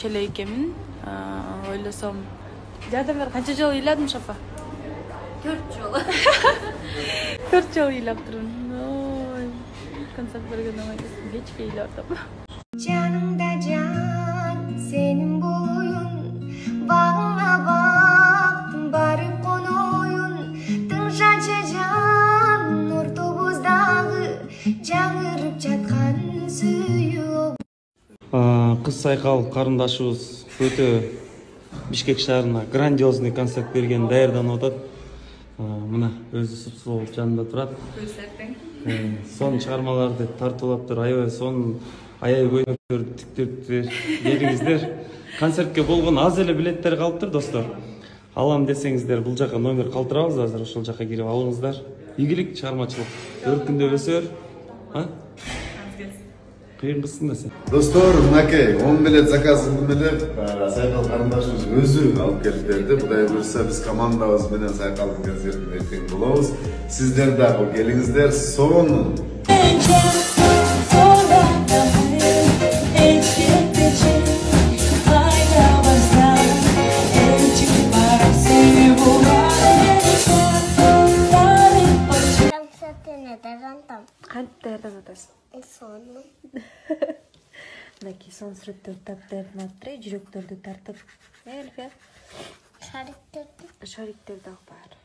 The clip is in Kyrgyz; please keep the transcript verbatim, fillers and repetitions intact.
кирчү эле экенмин. Ойлосом, жардам бер, канча жолу ыйладым Шапа? төрт жолу. төрт жолу ыйлап турмун. Ой, концерт берген амайсыз, кечке ыйлап атам. Canımda can, senin boyun, bağına baktım, barıp konoyun, tınşança can, ortobuzdağı, жаңырып жатқан сүйүү. Кыз Сайкал карындашыбыз өтө Бишкек шаарына грандиозный концерт берген даярданып атат. Мына өзү супсу болуп жанында турат. Сон чыгармаларды тартуулаптыр, аябай сон аяй көйнөктөр тиктириптир бериңиздер. Концертке болгон аз эле билеттер калыптыр, достор. Алам десеңиздер, бул жака номер калтырабыз, азыр ошол жака кирип алыңыздар. Ийгилик, чыгармачылык өркүндөп өсөр. А? Кыйын кызсың да сен. Достор, мынакей он билет заказын менен Сайкал карындашыбыз өзү алып келип берди. Кудай буйрса, биз командабыз менен Сайкалдын концертине эртең болобуз. Сиздер дагы келиңиздер. Сонун. Кантип даярданып атасың? Сонун. Мынакей сон сүрөттөрдү тартып даярданып атыр, жүрөктөрдү тартып. Элфия. Шариктерди. Шариктер дагы бар.